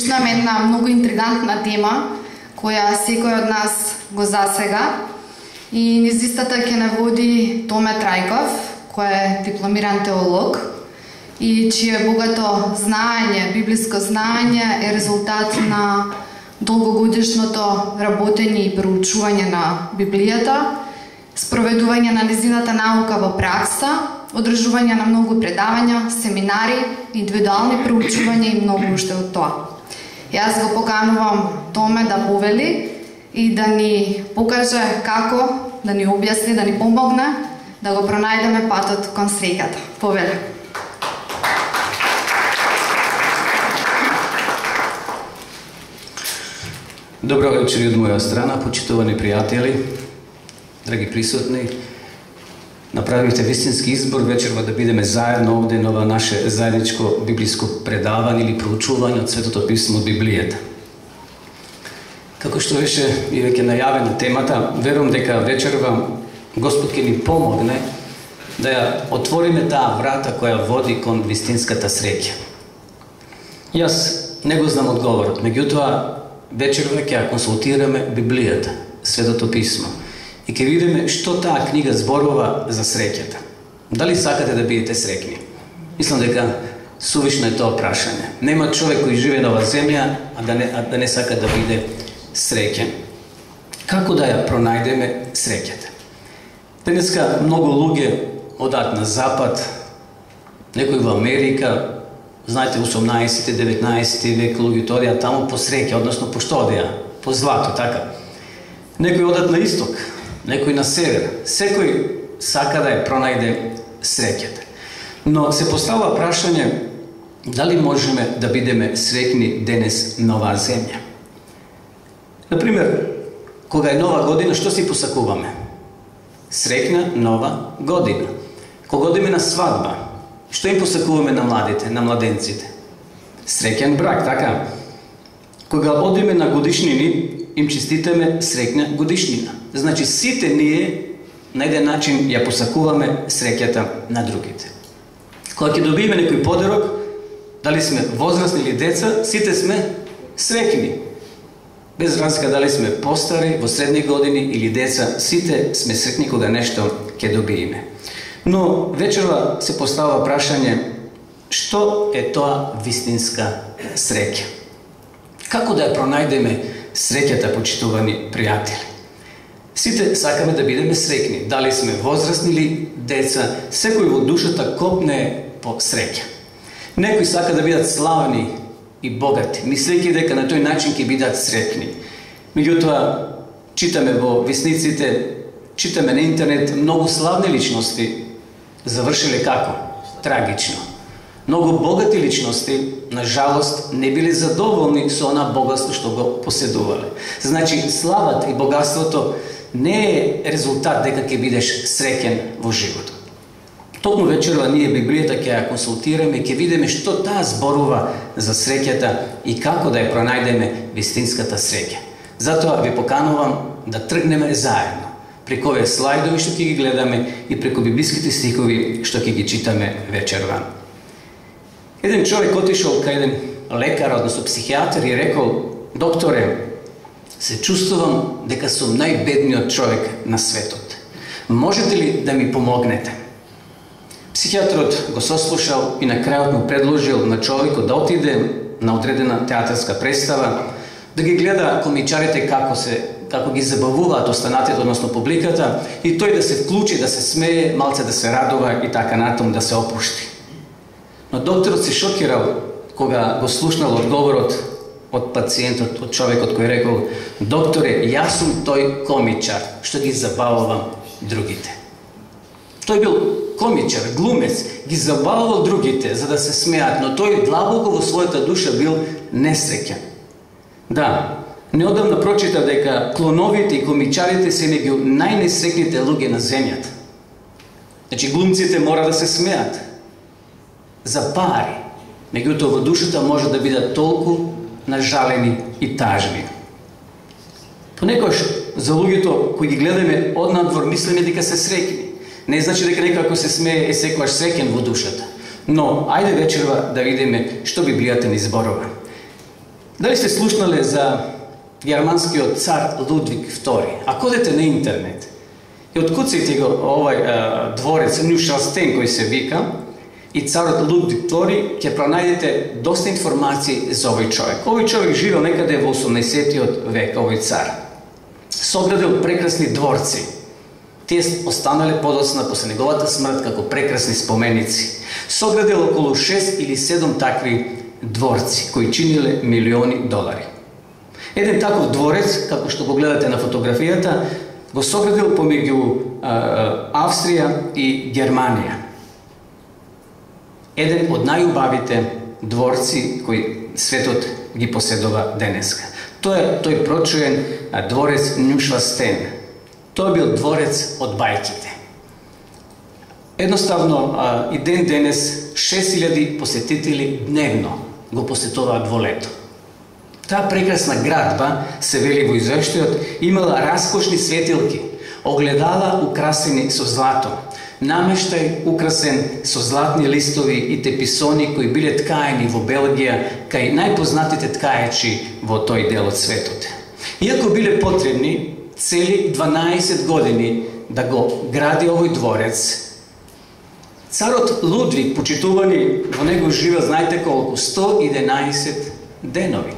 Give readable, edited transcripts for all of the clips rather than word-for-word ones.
Слушнам една многу интригантна тема која секој од нас го засега и низ истата ќе не води Томе Трајков, кој е дипломиран теолог и чие богато знаење, библиско знаење е резултат на долгогодишното работење и проучување на Библијата, спроведување на незината наука во пракса, одржување на многу предавања, семинари, индивидуални проучувања и многу уште од тоа. Јас го поканувам Томе да повели и да ни покаже како, да ни објасни, да ни помогне да го пронајдеме патот кон среќата. Повели. Добро вечер од моја страна, почитувани пријатели, драги присутни. Направивте вистински избор вечерва да бидеме заедно овде на ова наше заедничко библиско предавање или проучување од Светото писмо од Библијата. Како што беше и веќе најавена темата, верувам дека вечерва Господ ќе ни помогне да ја отвориме таа врата која води кон вистинската среќа. Јас не го знам одговорот, меѓутоа вечерва ќе ја консултираме Библијата, Светото писмо. И ќе видиме што таа книга зборува за среќата. Дали сакате да бидете среќни? Мислам дека сувишно е тоа прашање. Нема човек кој живее на оваа земја, а да не сака да биде среќен. Како да ја пронајдеме среќата? Денеска многу луѓе одат на запад, некои во Америка, знаете, 18-19 век луѓето одеа таму по среќа, односно по што одеа? По злато, така. Некои одат на исток, некој на север. Секој сака да ја пронајде среќата. Но се поставува прашање дали можеме да бидеме среќни денес на оваа земја. Например, кога е нова година, што си посакуваме? Среќна нова година. Кога одиме на свадба, што им посакуваме на младите, на младенците? Среќен брак, така? Кога одиме на годишнини, им честитаме среќна годишнина. Значи, сите ние на еден начин ја посакуваме среќата на другите. Кога ќе добиеме некој подарок, дали сме возрастни или деца, сите сме среќни. Без разлика дали сме постари, во средни години или деца, сите сме среќни кога нешто ќе добиеме. Но вечерва се поставува прашање што е тоа вистинска среќа? Како да ја пронајдеме среќата, почитувани пријатели? Сите сакаме да бидеме среќни, дали сме возрастни или деца, секој во душата копне по среќа. Некои сака да бидат славни и богати, мислејќи дека на тој начин ќе бидат среќни. Меѓутоа, читаме во весниците, читаме на интернет, многу славни личности завршиле како? Трагично. Многу богати личности, на жалост, не биле задоволни со она богатство што го поседувале. Значи, славата и богатството не е резултат дека ќе бидеш среќен во животот. Токму вечерва ние Библијата ќе ја консултираме и ќе видиме што таа зборува за среќата и како да ја пронајдеме вистинската среќа. Затоа ви поканувам да тргнеме заедно преку овие слайдови што ќе ги гледаме и преку библиските стихови што ќе ги читаме вечерва. Еден човек отишол кај еден лекар, односно психијатар и рекол: докторе, се чувствувам дека сум најбедниот човек на светот. Можете ли да ми помогнете? Психијатрот го сослушал и на крајот му предложил на човекот да отиде на одредена театарска представа, да ги гледа комичарите како ги забавуваат останатите, односно публиката, и тој да се вклучи, да се смее, малце да се радува и така натаму да се опушти. Но докторот се шокирал кога го слушнал одговорот од пациентот, од човекот кој рекол: докторе, јас сум тој комичар што ги забавувам другите. Тој бил комичар, глумец, ги забавувал другите за да се смеат, но тој длабоко во својата душа бил несреќен. Да, неодамна прочитав дека клоновите и комичарите се меѓу најнесреќните луѓе на земјата. Значи, глумците мора да се смеат за пари, меѓутоа во душата може да бидат толку нажалени и тажни. Понекогаш за луѓето кои ги гледаме однадвор мислиме дека се среќни. Не значи дека некој ако се смее е секогаш среќен во душата. Но ајде вечерва да видиме што Библијата ни зборува. Дали сте слушнале за германскиот цар Лудвиг II? Ако одете на интернет и откуците го овај дворец Нюшелстен кој се вика и царот Лудвиг II, ќе пронајдете доста информации за овој човек. Овој човек живеел некаде во 18-тиот век, овој цар. Соградил прекрасни дворци. Тие останале подоцна после неговата смрт како прекрасни споменици. Соградил околу 6 или 7 такви дворци кои чиниле милиони долари. Еден таков дворец, како што го гледате на фотографијата, го соградил помеѓу Австрија и Германија. Еден од најубавите дворци кои светот ги поседува денеска. Тој прочуен дворец Нюшелстен. Тој бил дворец од бајките. Едноставно, и ден денес 6000 посетители дневно го посетуваат во лето. Таа прекрасна градба, се вели во извештајот, имала раскошни светилки, огледала украсени со злато, намештај украсен со златни листови и теписони кои биле ткаени во Белгија кај најпознатите ткаечи во тој дел од светот. Иако биле потребни цели 12 години да го гради овој дворец, царот Лудвиг, почитувани, во него живеел, знаете колку, 111 денови.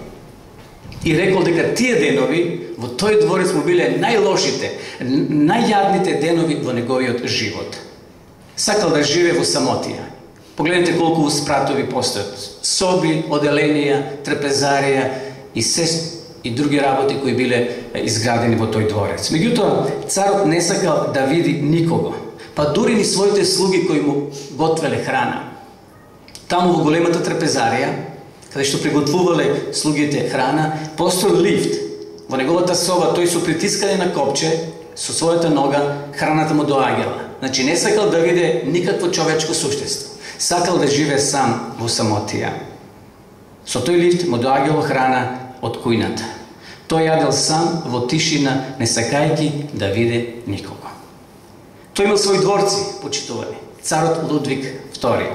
И рекол дека тие денови во тој дворец му биле најлошите, најјадните денови во неговиот живот. Сакал да живее во самотија. Погледнете колку спратови постојат. Соби, оделенија, трпезарија и други работи кои биле изградени во тој дворец. Меѓутоа, царот не сакал да види никого, па дури ни своите слуги кои му готвеле храна. Таму во големата трпезарија, каде што приготвувале слугите храна, постоел лифт. Во неговата соба тој со притискање на копче, со својата нога, храната му доаѓала. Значи не сакал да види никакво човечко суштество. Сакал да живее сам во самотија. Со тој лифт му доаѓала храна од кујната. Тој јадел сам во тишина, не сакајќи да види никого. Тој имал своји дворци, почитувани. Царот Лудвиг II.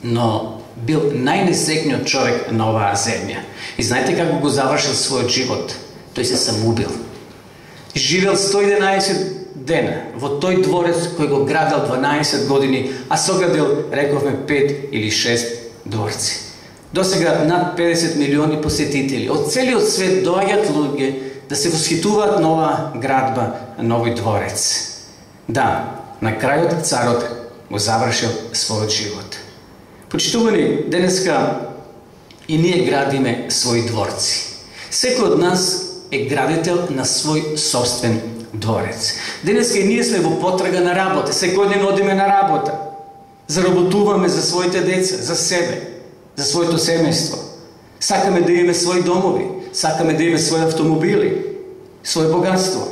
Но бил најнесреќниот човек на оваа земја. И знаете како го завршил својот живот? Тој се самоубил. Живел 111 дена во тој дворец кој го градил 12 години, а соградил, рековме, 5 или 6 дворци. Досега над 50 милиони посетители од целиот свет доаѓаат луѓе да се восхитуваат на оваа градба, новој дворец. Да, на крајот царот го завршил својот живот. Почитувани, денеска и ние градиме своји дворци. Секој од нас е градител на свој собствен дворец. Денеска и ние сме во потрага на работа. Секој ден одиме на работа. Заработуваме за своите деца, за себе, за своето семејство. Сакаме да имаме своји домови, сакаме да имаме своји автомобили, своје богатство.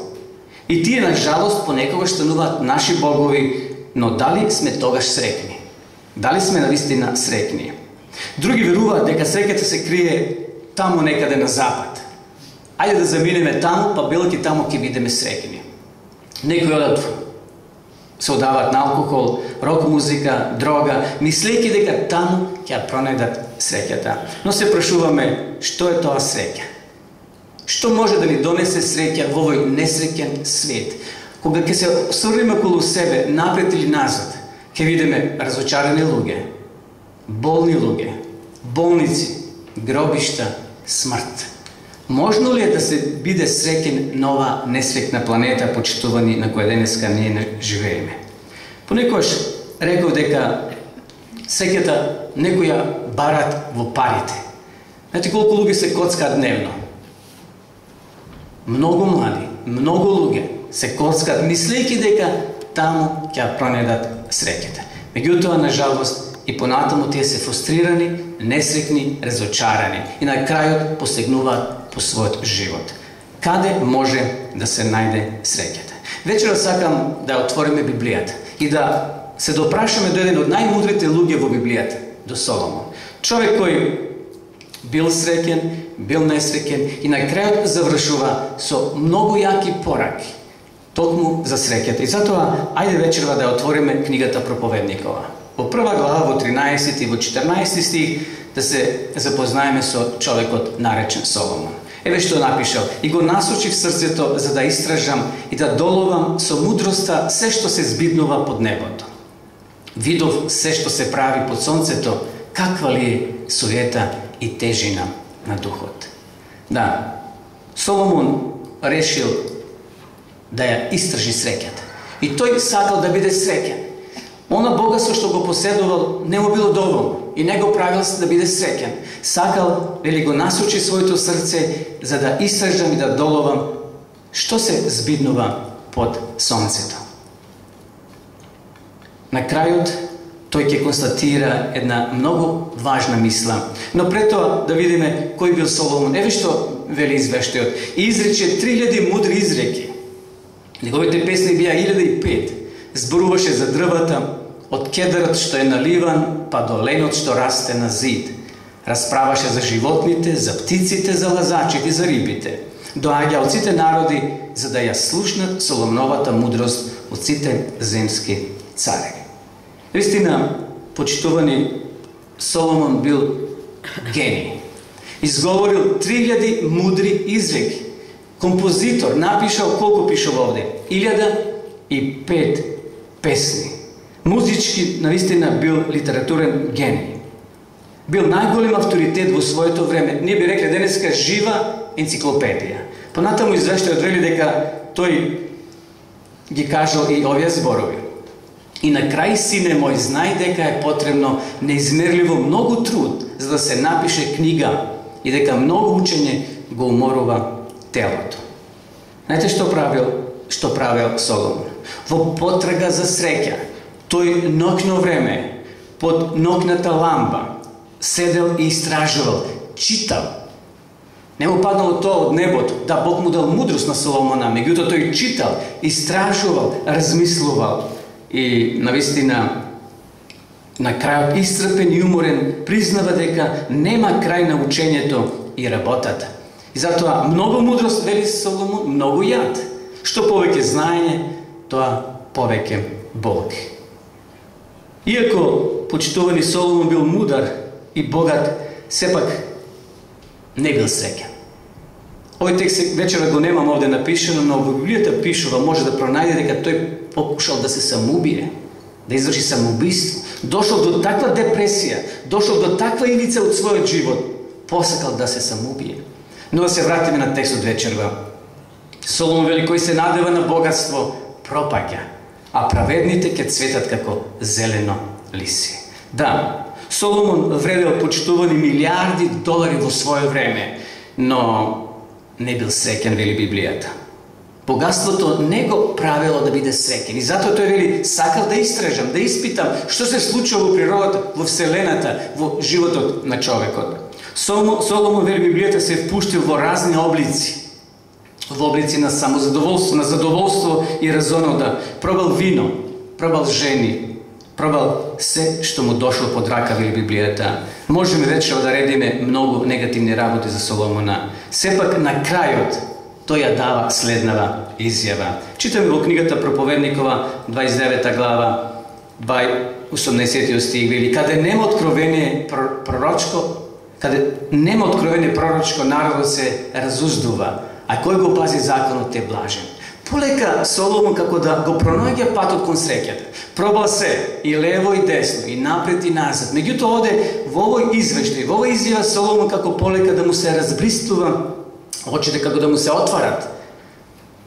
И тие, на жалост, понекогаш стануваат наши богови, но дали сме тогаш среќни? Дали сме навистина среќни? Други веруваат дека среќата се крие таму некаде на запад. Ајде да заминеме таму, па билки таму ќе бидеме среќни. Некои одат се одаваат на алкохол, рок музика, дрога, мислејќи дека таму ќе пронајдат среќата. Но се прашуваме, што е тоа среќа? Што може да ни донесе среќа во овој несреќен свет? Кога ќе се осврнеме околу себе, напред или назад, ќе видиме разочарани луѓе, болни луѓе, болници, гробишта, смрт. Можно ли е да се биде среќен на оваа несреќна планета, почитувани, на која денеска ние не живееме? Понекогаш реков дека среќата некоја барат во парите. Знаете колку луѓе се коцкаат дневно? Многу млади, многу луѓе се коцкаат, мислејќи дека таму ќе пронајдат среќата. Меѓутоа, на жалост, и понатаму тие се фрустрирани, несреќни, разочарани и на крајот посегнуваат по својот живот. Каде може да се најде среќата? Вечера сакам да отвориме Библијата и да се допрашаме до еден од најмудрите луѓе во Библијата, до Соломон. Човек кој бил среќен, бил несреќен и на крајот завршува со многу јаки пораки токму за среќата. И затоа, ајде вечерва да отвориме книгата Проповедникова. Во прва глава, во 13 и во 14 стих, да се запознаеме со човекот наречен Соломон. Еве што напишал: и го насочи в срцето за да истражам и да доловам со мудроста се што се збиднува под небото. Видов се што се прави под сонцето, каква ли е суета и тежина на духот. Да, Соломон решил да ја истражи среќата. И тој сакал да биде среќен. Она богатство што го поседувал не му било доволно и не го правил да биде среќен. Сакал, вели, го насочи своето срце за да истражам и да доловам што се збиднува под сонцето. На крајот тој ќе констатира една многу важна мисла. Но пред тоа да видиме кој бил Соломон. Еве што вели извештајот: и изрече 3000 мудри изреки. Неговите песни бија 1005. Зборуваше за дрвата, од кедарот што е наливан, па до ленот што расте на зид. Расправаше за животните, за птиците, за лазачите, за рибите. Доаѓа од сите народи за да ја слушнат Соломоновата мудрост од сите земски цареви. Вистина, почитувани, Соломон бил гений. Изговорил 3000 мудри изреки. Композитор, напишал, колку пишал овде? 1005 песни. Музички, навистина, бил литературен гений. Бил најголем авторитет во своето време. Ние би рекле денеска жива енциклопедија. Понатаму извештајот вели дека тој ги кажал и овие зборови. И на крај, сине мој, знај дека е потребно неизмерливо многу труд за да се напише книга и дека многу учење го уморува телото. Знаете што правил Соломон? Во потрага за среќа, тој ноќно време, под ноќната ламба, седел и истражувал, читал. Не му паднало тоа од небото, да, Бог му дал мудрост на Соломона, меѓутоа тој читал, истражувал, размислувал и навистина на крајот исцрпен и уморен признава дека нема крај на учењето и работата. И затоа многу мудрост, вели Соломон, многу јад. Што повеќе знаење, тоа повеќе болки. Иако почитувани Соломон бил мудар и богат, сепак не бил среќен. Овој текст вечера го немам овде напишено, но во Библијата пишува, може да пронајде дека тој покушал да се самоубие, да изврши самоубиство. Дошол до таква депресија, дошол до таква ивица од својот живот, посакал да се самоубие. Но да се вратиме на текстот вечерва. Соломон вели: кој се надева на богатство, пропаѓа, а праведните ќе цветат како зелено лиси. Да, Соломон вредел почитувани милиарди долари во свое време, но не бил среќен, вели Библијата. Богатството не го правело да биде среќен. И затоа тој вели: сакал да истражам, да испитам што се случува во природата, во вселената, во животот на човекот. Соломон, вели Библијата, се впуштил во разни облици. Во облици на самозадоволство, на задоволство и разонода. Пробал вино, пробал жени, пробал се што му дошло под рака, вели Библијата. Можеме вечера да редиме многу негативни работи за Соломона. Сепак на крајот тој ја дава следнава изјава. Читаме во книгата Проповедникова, 29 глава, 18 стих, вели: каде нема откровение пророчко, народот се разуздува, а кој го пази законот е блажен. Полека Соломон како да го пронаѓа патот кон среќата. Пробал се и лево и десно, и напред и назад. Меѓутоа оде во овој извештај, во овој изјава Соломон како полека да му се разбристува очите, како да му се отварат.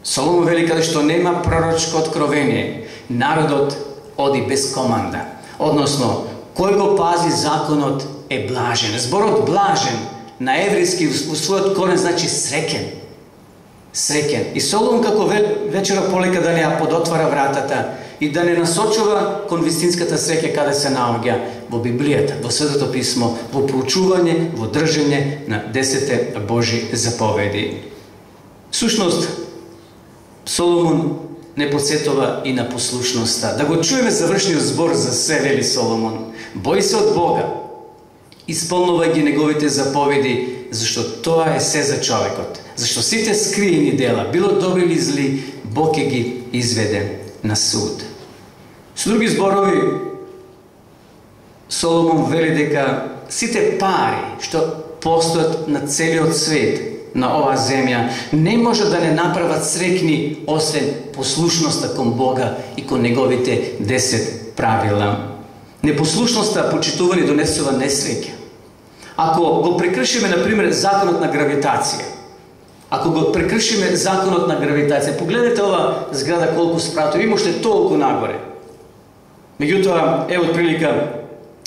Соломон вели: каде што нема пророчко откровение, народот оди без команда. Односно, кој го пази законот е блажен. Зборот блажен на еврејски во својот корен значи среќен. Среќен. И Соломон како вечера полека да не ја подотвара вратата и да не насочува кон вистинската среќа каде се наоѓа во Библијата, во Светото писмо, во проучување, во држење на 10 Божи заповеди. Сушност, Соломон не подсетува и на послушноста. Да го чуеме завршниот збор за се, вели Соломон: бој се од Бога, исполнувај ги неговите заповеди, зашто тоа е се за човекот. Зашто сите скриени дела, било добри или зли, Бог ќе ги изведе на суд. Со други зборови, Соломон вели дека сите пари што постојат на целиот свет, на оваа земја, не може да не направат среќни освен послушноста кон Бога и кон неговите 10 правила. Непослушноста, почитувани, донесува несреќа. Ако го прекршиме, например, законот на гравитација, ако го прекршиме законот на гравитација, погледнете ова зграда колку спратови, има уште толку нагоре. Меѓутоа, е од прилика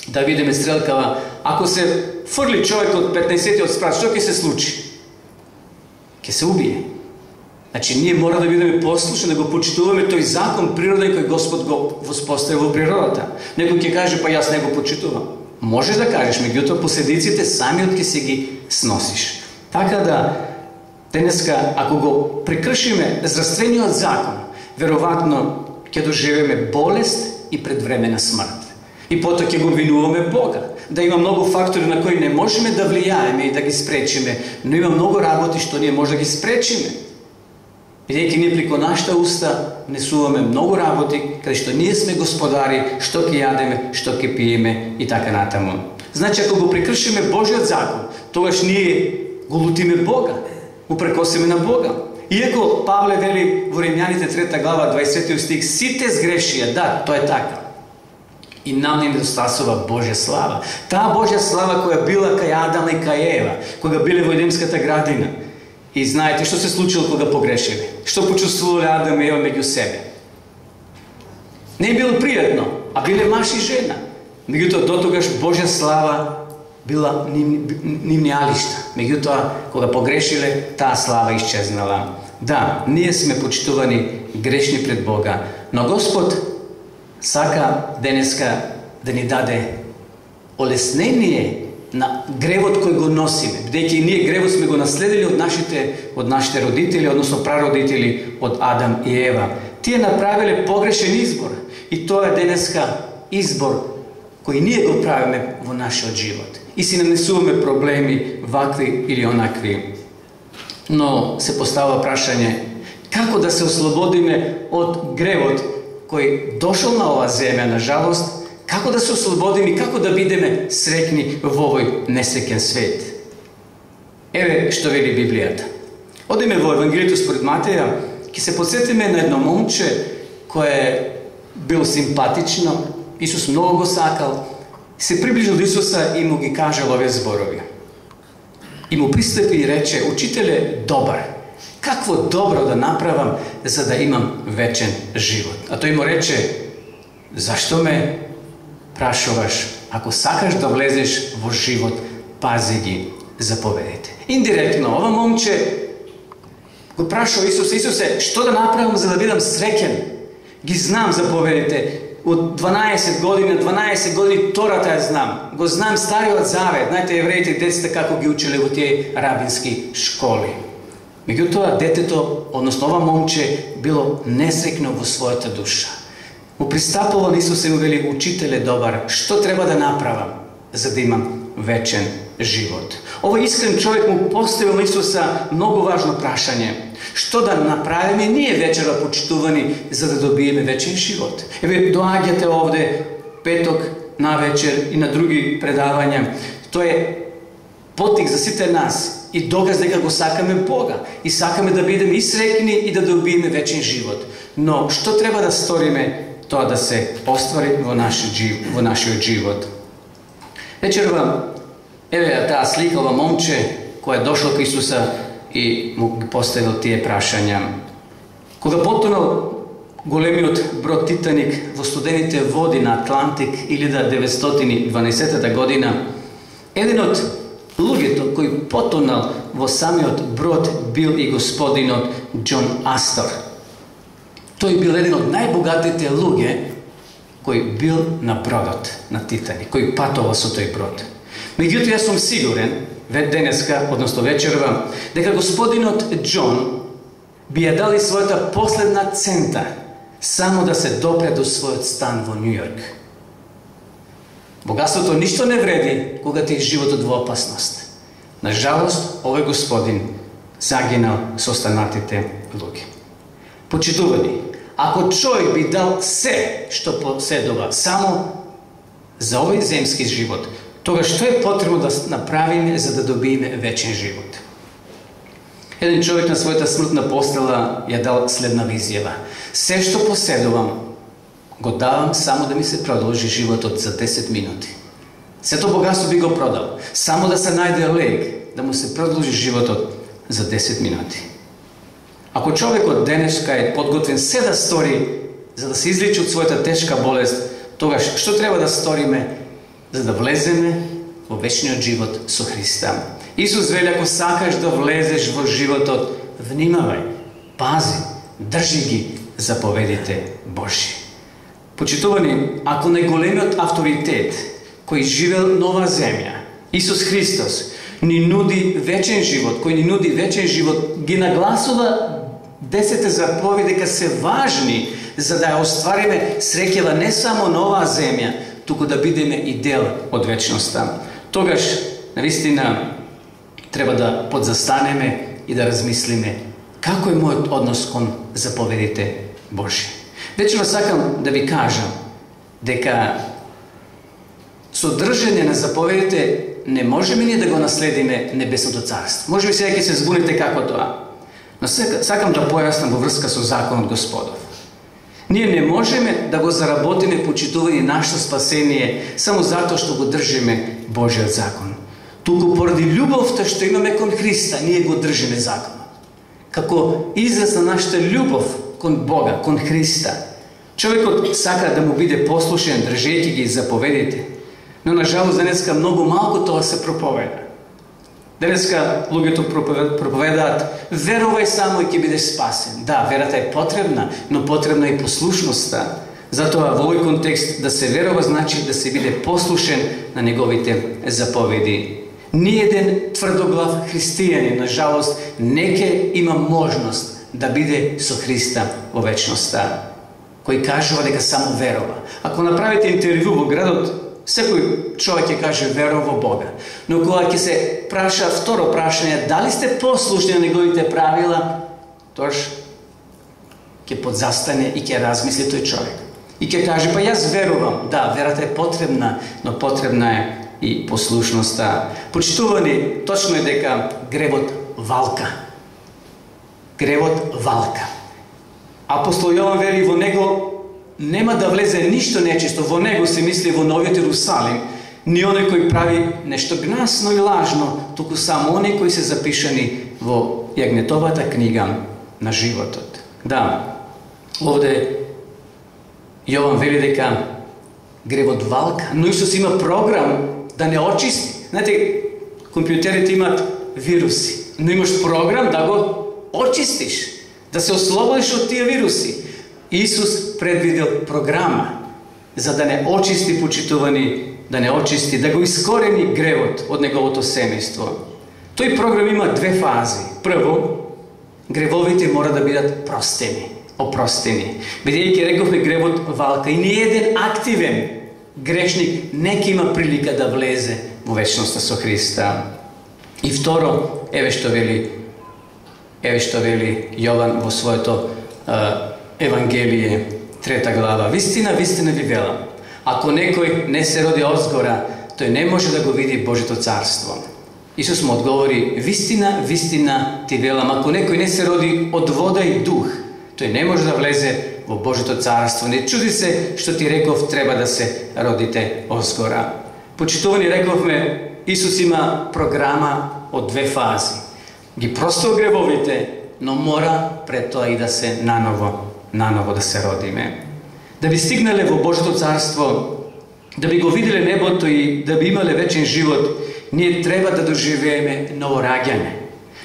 да видиме стрелкава, ако се фрли човек од 15-тиот спрат, што ќе се случи? Ќе се убие. Значи, ние мора да бидеме послушни, да го почитуваме тој закон природен кој Господ го воспостави во природата. Некој ќе каже, па јас не го почитувам. Можеш да кажеш, меѓутоа последиците самиот ќе се ги сносиш. Така да, денеска, ако го прекршиме здравствениот закон, веројатно ќе доживеме болест и предвремена смрт. И потоа ќе го винуваме Бога. Да има многу фактори на кои не можеме да влијаеме и да ги спречиме, но има многу работи што ние може да ги спречиме. Бидејќи ние преку нашата уста несуваме многу работи, каде што ние сме господари, што ќе јадеме, што ќе пиеме и така натаму. Значи, ако го прекршиме Божиот закон, тогаш ние го лутиме Бога, го прекосиме на Бога. Иако Павле вели во Римјаните 3 глава 20 стих, сите сгрешија, да, тоа е така. И нам не недостасува Божја слава. Таа Божја слава која била кај Адам и кај Ева, кога биле во Едемската градина. И знаете што се случило кога погрешиле? Што почувствувале Адам и Ева меѓу себе? Не било пријатно, а биле маж и жена. Меѓутоа, дотогаш Божја слава била нивни алишта. Меѓутоа, кога погрешиле, таа слава исчезнала. Да, ние сме почитувани грешни пред Бога, но Господ сака денеска да ни даде олеснение на гревот кој го носиме, бидејќи ние гревот сме го наследили од нашите родители, односно прародители, од Адам и Ева. Тие направиле погрешен избор и тоа е денеска избор кој ние го правиме во нашиот живот. И си нанесуваме проблеми вакви или онакви. Но се постава прашање како да се ослободиме од гревот кој дошол на оваа земја, на жалост, како да се ослободиме и како да бидеме среќни во овој несреќен свет. Еве што вели Библијата. Одиме во Евангелието според Матеја, ќе се подсетиме на едно момче кое бил симпатично, Исус многу го сакал, се приближил до Исуса и му ги кажал овие зборови. И му пристапи и рече, учителе добар, какво добро да направам за да имам вечен живот? А тој му рече, зашто ме прашуваш? Ако сакаш да влезеш во живот, пази ги заповедите. Индиректно, ова момче го прашува Исусе, Исусе, што да направам за да бидам среќен? Ги знам заповедите. Од 12 години Тората ја знам. Го знам Стариот Завет. Знаете, евреите децата како ги учеле во тие рабински школи. Меѓутоа, детето, односно ова момче, било несреќно во својата душа. Му пристапува на Исус и му вели, учителе добар, што треба да направам за да имам вечен живот? Овој искрен човек му поставил на Исуса многу важно прашање. Што да направиме ние вечера почитувани за да добиеме вечен живот? Еве, доаѓате овде петок на вечер и на други предавања. Тоа е потик за сите нас и доказ дека го сакаме Бога и сакаме да бидеме и среќни и да добиеме вечен живот. Но што треба да сториме тоа да се оствари во нашиот живот? Вечерва, еве таа слика, ова момче кој е дошло кај Исуса и му ги поставил тие прашања. Кога потонал големиот брод Титаник во студените води на Атлантик 1912 година, еден од луѓето кој потонал во самиот брод бил и господинот Џон Астор. Тој бил еден од најбогатите луѓе кој бил на бродот на Титаник, кој патувал со тој брод. Меѓутоа, јас сум сигурен, денеска, односно вечерва, дека господинот Џон би ја дали својата последна цента само да се допре до својот стан во Њујорк. Богатството ништо не вреди кога ти животот во опасност. На жалост, овој господин загинал со останатите луѓе. Почитувани, ако човек би дал се што поседува само за овој земски живот, тогаш што е потребно да направиме за да добиеме вечен живот? Еден човек на својата смртна постела ја дал следнава изјава: се што поседувам го давам само да ми се продолжи животот за 10 минути. Сето богатство би го продал, само да се најде лек, да му се продолжи животот за 10 минути. Ако човекот денеска е подготвен се да стори за да се излечи од својата тешка болест, тогаш што треба да сториме за да влеземе во вечниот живот со Христа? Исус вели: ако сакаш да влезеш во животот, внимавај, пази, држи ги заповедите Божји. Почитувани, ако најголемиот авторитет кој живел нова земја, Исус Христос, ни нуди вечен живот, кој ни нуди вечен живот, ги нагласува 10 заповеди дека се важни за да ја оствариме среќава не само нова земја, туку да бидеме и дел од вечноста. Тогаш, навистина, треба да подзастанеме и да размислиме како е мојот однос кон заповедите Божји. Вечерва сакам да ви кажам дека со држење на заповедите не можеме ние да го наследиме небесното царство. Може би сега ќе се збуните како тоа. Но сакам да појаснам во врска со законот Господов. Ние не можеме да го заработиме почитување нашето спасение само затоа што го држиме Божјиот закон. Туку поради љубовта што имаме кон Христа, ние го држиме законот. Како израз на нашата љубов кон Бога, кон Христа. Човекот сака да му биде послушен, држејќи ги заповедите. Но на жалост денеска многу малку тоа се проповеда. Денеска луѓето проповедаат: верувај само и ќе бидеш спасен. Да, верата е потребна, но потребна е послушноста. Затоа во овој контекст да се верува значи да се биде послушен на неговите заповеди. Ниеден тврдоглав христијанин, на жалост, не ќе има можност да биде со Христа во вечноста. Кој кажува дека само верува. Ако направите интервју во градот, секој човек ќе каже верува во Бога. Но кога ќе се праша второ прашање, дали сте послушни на неговите правила, тоаш ќе подзастане и ќе размисли тој човек. И ќе каже: па јас верувам. Да, верата е потребна, но потребна е и послушноста. Почитувани, точно е дека гревот валка. Гревот валка. Апостол Јован вели: во него нема да влезе ништо нечисто. Во него се мисли во Новиот Ерусалим. Ни оној кој прави нешто гнасно и лажно, туку само они кои се запишани во јагнетовата книга на животот. Да, овде Јован вели дека гревот валка, но Исус има програм да не очисти. Знаете, компјутерите имат вируси, но имаш програм да го очистиш, да се ослободиш од тие вируси. Исус предвидел програма за да не очисти, почитувани, да не очисти, да го искорени гревот од неговото семејство. Тој програм има две фази. Прво, гревовите мора да бидат простени, опростени. Бидејќи рековме гревот валка и ниеден активен грешник не ќе има прилика да влезе во вечноста со Христа. И второ, еве што вели Јован во своето Евангелие, 3 глава. Вистина, вистина ви велам, ако некој не се роди одзгора, тој не може да го види Божјото царство. Исус му одговори: вистина, вистина ти велам, ако некој не се роди од вода и дух, тој не може да влезе во Божјото царство. Не чуди се што ти реков, треба да се родите одзгора. Почитувани, рековме, Исус има програма од две фази. Ги простил гревовите, но мора пред тоа и да се наново да се родиме. Да би стигнале во Божјото царство, да би го виделе небото и да би имале вечен живот, ние треба да доживееме новораѓање.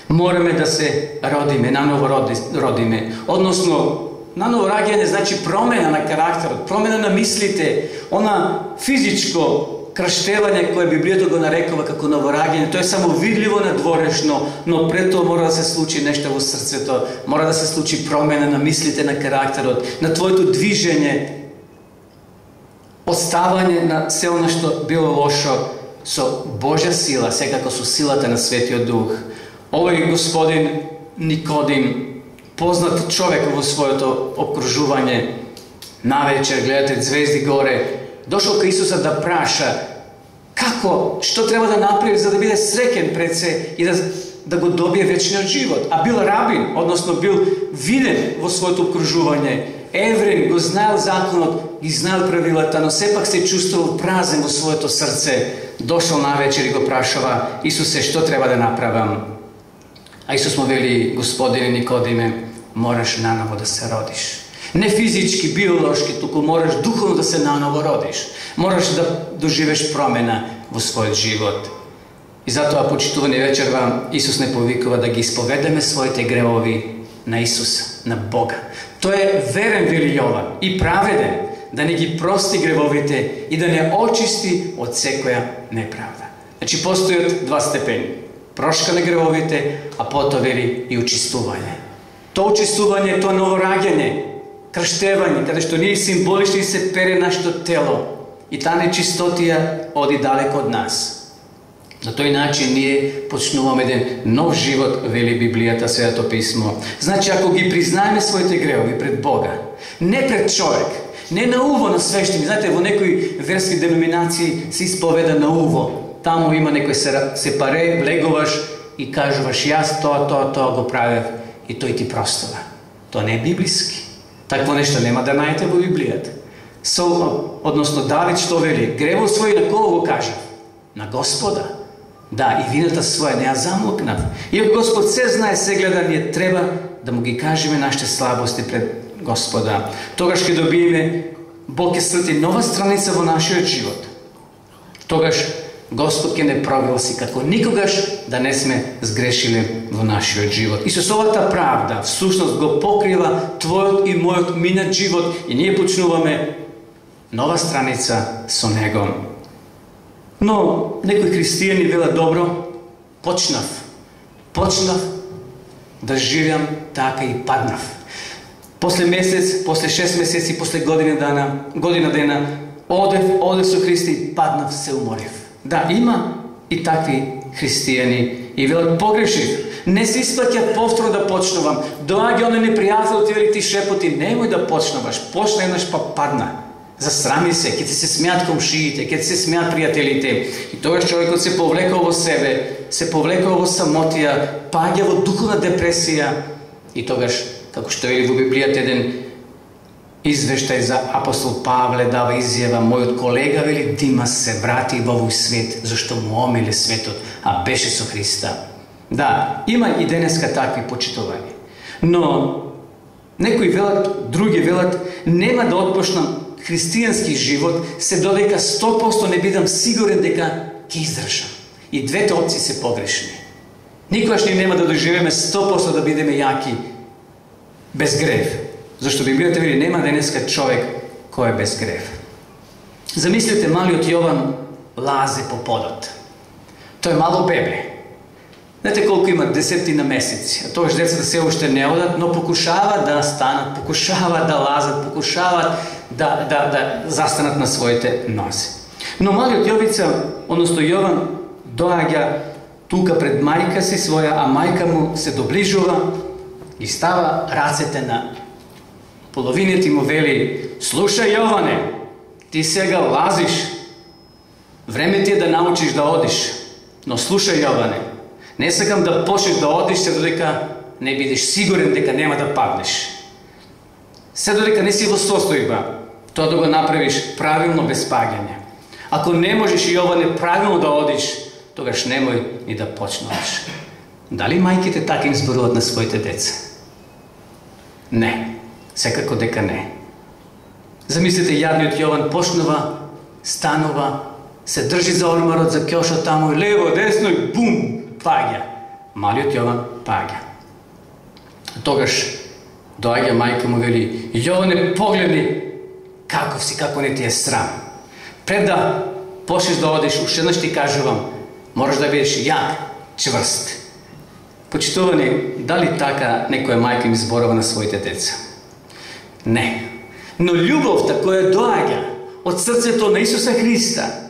Мораме да се родиме, наново родиме. Односно, наново раѓање значи промена на карактерот, промена на мислите, она физичко крштевање кое Библијата го нарекува како новораѓање. Тоа е само видливо надворешно, но пред тоа мора да се случи нешто во срцето, мора да се случи промена на мислите, на карактерот, на твоето движење, оставање на се она што било лошо со Божја сила, секако со силата на Светиот Дух. Овој господин Никодим, познат човек во своето окружување, навечер гледате звезди горе, дошол кај Исуса да праша што треба да направи за да биде среќен пред се и да го добие вечниот живот. А бил рабин, односно бил виден во своето окружување, еврей, го знаел законот, ги знаел правилата, но сепак се чувствувал празен во своето срце. Дошол навечер и го прашува: Исусе, што треба да направам? А Исус му вели: Господине Никодиме, мораш наново да се родиш. Не физички, биолошки, туку мораш духовно да се наново родиш. Мораш да доживеш промена во својот живот. И затоа, почитувани вечерва, Исус не повикува да ги исповедаме своите гревови на Исус, на Бога. Тој е верен, вели Јован, и праведен, да не ги прости гревовите и да не очисти од секоја неправда. Значи, постојат два степени. Прошка на гревовите, а потоа вели и очистување. Тоа очистување, тоа ново раѓање, крштевање, каде што ние символично се пере нашето тело и таа нечистотија оди далеко од нас. На тој начин ние почнуваме еден нов живот, вели Библијата, Светото писмо. Значи, ако ги признаеме своите гревови пред Бога, не пред човек, не на уво на свештени. Знаете, во некои верски деноминации се исповеда на уво. Таму има некој сепаре, влегуваш и кажуваш: јас тоа го правев, и тој ти простува. Тоа не е библиски. Такво нешто нема да најдете во Библијата. Односно, Давид што вели? Гревот свој на кого го кажа? На Господа. Да, и вината своја не ја замлокнав. Иако Господ се знае, се гледа, ние треба да му ги кажеме нашите слабости пред Господа. Тогаш ќе добиеме, Бог ќе срти нова страница во нашиот живот. Тогаш Господ ќе не прогласи како никогаш да не сме сгрешиле во нашиот живот. Исусовата правда всушност го покрива твојот и мојот минат живот и ние почнуваме нова страница со Него. Но некои христијани велат: добро, почнав да живеам така и паднав. После месец, после 6 месеци, после година дена, одев со Христа и паднав, се уморив. Да, има и такви христијани и велат: погрешив, не се исплаќа повторно да почнувам. Доаѓа оној непријател, ти вели: ти шепоти, немој да почнуваш, почна еднаш па падна. Засрами се, ќе ти се смеат комшиите, ќе ти се смеат пријателите. И тогаш човекот се повлекал во себе, се повлекал во самотија, паѓа во духовна депресија. И тогаш, како што вели во Библијата еден извештај за апостол Павле, дава изјава: мојот колега, вели, Димас, се врати во овој свет, зашто му омиле светот, а беше со Христа. Да, има и денеска такви почитувања. Но некои велат, други велат: нема да отпочнам христијански живот се додека 100% не бидам сигурен дека ќе издржам. И двете опции се погрешни. Никогаш ние нема да доживеме 100% да бидеме јаки без грев. Зашто Библијата вели: нема денеска човек кој е без грев. Замислете, малиот Јован лазе по подот. Тој е мало бебе. Знаете колку има? 10 месеци. А тогаш децата се уште не одат, но покушават да станат, покушават да лазат, покушават да застанат на своите нози. Но малиот Јовица, односно Јован, доаѓа тука пред мајка си своја, а мајка му се доближува и става рацете на половините и му вели: слушај, Јоване, ти сега лазиш, време ти е да научиш да одиш, но слушај, Јоване, не сакам да почнеш да одиш се додека не бидеш сигурен дека нема да паднеш. Се додека не си во состојба тоа да го направиш правилно без паѓање. Ако не можеш, Јоване, правилно да одиш, тогаш немој ни да почнуваш. Дали мајките така им зборуват на своите деца? Не, секако дека не. Замислите, јадниот Јован почнува, станува, се држи за ормарот, за ќошот таму, лево, десно и бум, паѓа. Малиот Јован паѓа. Тогаш доаѓа мајка му, вели: Јоване, погледни каков си, како не ти е срам. Пред да почнеш да одиш, уште еднаш ти кажувам, мораш да бидеш јак, чврст. Почитувани, дали така некоја мајка им зборува на своите деца? Не. Но љубовта која доаѓа од срцето на Исуса Христа,